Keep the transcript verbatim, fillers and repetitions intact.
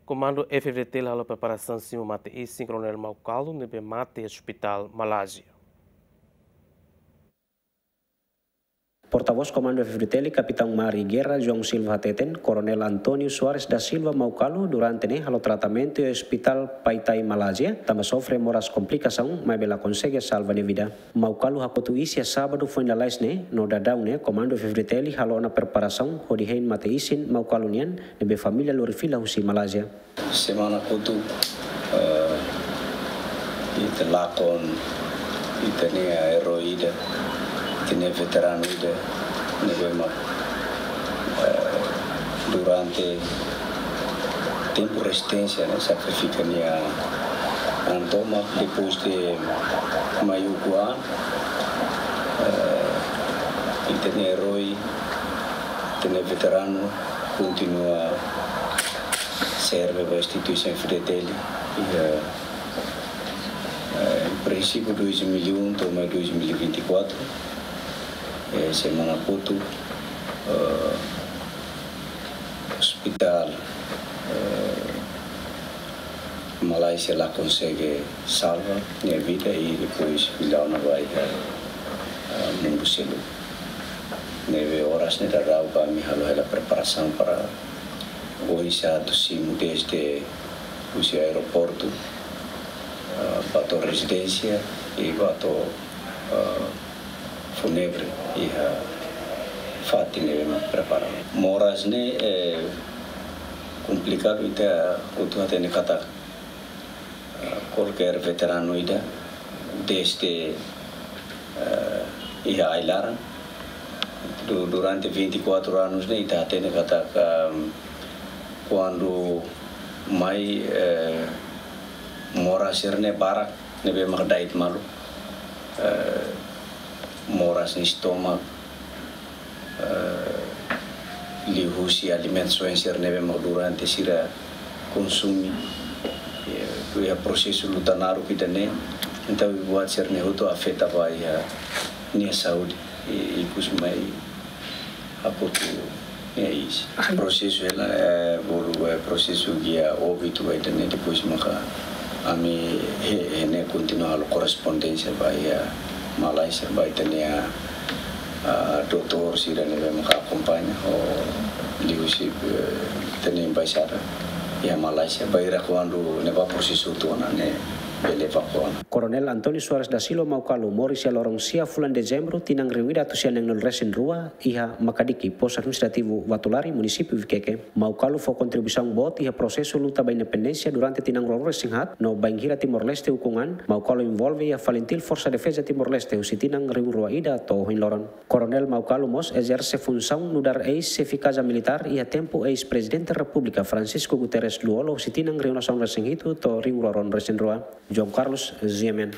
Komandu F-FDTL halo preparasaun simu mate-isin Koronel Maucalo ne'ebé mate iha Ospitál Malázia. Portavós Komandu F-FDTL, Kapitaun Mar i Gerra, João Silva hateten, Koronel António Soares da Silva Maucalo durante ne'e halo tratamentu iha Ospitál Paetae Malázia, tanba sofre moras komplikasaun, maibé la konsege salva nia vida. Maucalo hakotu iis iha sábadu foin lalais ne'e, no daudaun ne'e Komandu F-FDTL halo ona preparasaun hodi hein mate-isin Maucalo nian, ne'ebé família lori fila husi Malázia. Semana kotuk, eh, ita lakon ita-nia erói ida, ita-nia veteranu ida, ne'ebé mak, eh, durante tempu rezisténsia ne'e sakrifika nia an tomak, depois de mai ukun an, eh, ita-nia erói, ita-nia veteranu kontinua serve ba instituisaun F-FDTL. Iha, eh, em princípio dois mil e um to'o mai dois mil e vinte e quatro, eh, semana kotuk, eh, ospitál, eh, Malázia la konsege salva nia vida i depois fila ona ba iha, eh, mundu seluk. Ne'ebé oras ne'e daudaun ami halo hela preparasaun para oinsá atu simu desde husi aeroportu, eh, ba to'o rezidénsia i ba to'o, eh, fúnebre iha fatin ne'ebé mak prepara. Moras ne'e, eh, komplikadu, ita hotu hatene katak, eh, kualkér veteranu ida desde, eh, iha ai-laran du-, durante vinte e quatro anos ne'e ita hatene katak, ehm, kuandu mai, eh, moras sira-ne'e barak ne'ebé mak da'et malu, eh, moras nia estomak, eh, liuhusi alimentus oin sira ne'ebé mak durante sira konsume, eh, iha prosesu luta naruk ida-ne'e, entaun buat sira-ne'e hotu afeta ba iha nia saúde, i, ikus mai hakotu nia iis. Prosesu hela, eh, bolu, eh, prosesu gia óbitu ba ida-ne'e, depois maka ami he, he ne'e kontinua halo korrespondénsia ba iha Malázia, ba ita-nia, ah, doutór sira ne'ebé maka akompaña, ho liuhusi, eh, ita-nia embaixada iha Malázia, bainhira kuandu ne'e ba prosesu hotu ona ne'e bele evakuasaun. Koronel António Soares da Silva Maucalo moris iha loron sia fulan Dezembru, tinan rihun ida atus sia neen-nulu resin rua, iha Makadiki, Postu Administrativu Vatulari, Munisípiu Viqueque. Maucalo fó kontribuisaun boot iha prosesu luta ba independénsia durante tinan ruanulu resin haat, no bainhira Timor-Leste ukun an, Maucalo envolve iha FALINTIL, Forsa Defeza Timor-Leste, husi tinan rihun rua ida to'o ohin loron. Koronel Maucalo mós ezerse funsaun nu'udar eis-xefe Kaza Militár iha tempu eis-Prezidente Repúblika Francisco Guterres Lú-Olo, husi tinan rihun ruanulu resin hitu to'o rihun ruanulu resin rua. João Carlos, G M N.